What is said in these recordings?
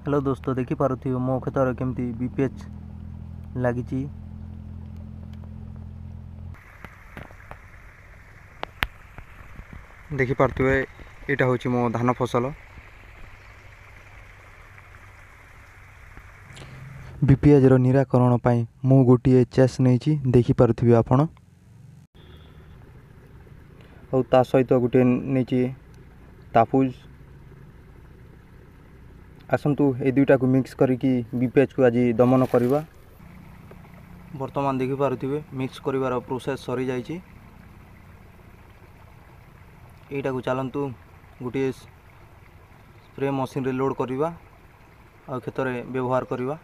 Hello ଦୋସ୍ତ, ଦେଖିପାରୁଥିବେ ମୋ କ୍ଷେତରେ କେମିତି ବିପିଏଚ୍ ଲାଗିଛି। ଦେଖିପାରୁଥିବେ, ଏଇଟା ହେଉଛି ମୋ ଧାନ ଫସଲ। ବିପିଏଚ୍ର ନିରାକରଣ ପାଇଁ ମୁଁ ଗୋଟିଏ ଚେସ୍ ନେଇଛି, ଦେଖିପାରୁଥିବେ ଆପଣ। ଆଉ ତା ସହିତ ଗୋଟିଏ ନେଇଛି ତାପୁଜ। ଆସନ୍ତୁ ଏଇ ଦୁଇଟାକୁ ମିକ୍ସ କରିକି ବିପିଏଚ୍କୁ ଆଜି ଦମନ କରିବା। ବର୍ତ୍ତମାନ ଦେଖିପାରୁଥିବେ ମିକ୍ସ କରିବାର ପ୍ରୋସେସ୍ ସରିଯାଇଛି। ଏଇଟାକୁ ଚାଲନ୍ତୁ ଗୋଟିଏ ସ୍ପ୍ରେ ମେସିନ୍ରେ ଲୋଡ଼୍ କରିବା ଆଉ କ୍ଷେତରେ ବ୍ୟବହାର କରିବା।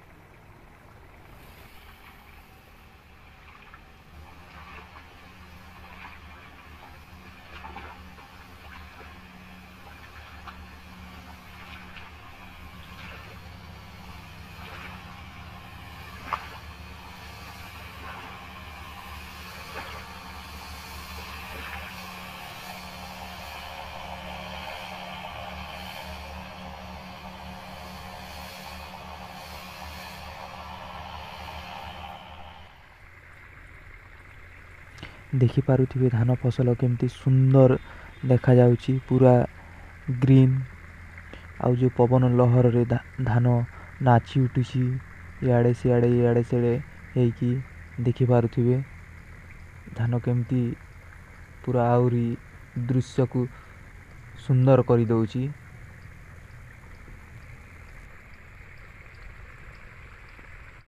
ଦେଖିପାରୁଥିବେ ଧାନ ଫସଲ କେମିତି ସୁନ୍ଦର ଦେଖାଯାଉଛି, ପୁରା ଗ୍ରୀନ୍। ଆଉ ଯେଉଁ ପବନ ଲହରରେ ଧାନ ନାଚି ଉଠୁଛି ଇଆଡ଼େ ସିଆଡ଼େ ଇଆଡ଼େ ସିଆଡ଼େ ହେଇକି, ଦେଖିପାରୁଥିବେ ଧାନ କେମିତି ପୁରା ଆହୁରି ଦୃଶ୍ୟକୁ ସୁନ୍ଦର କରିଦେଉଛି।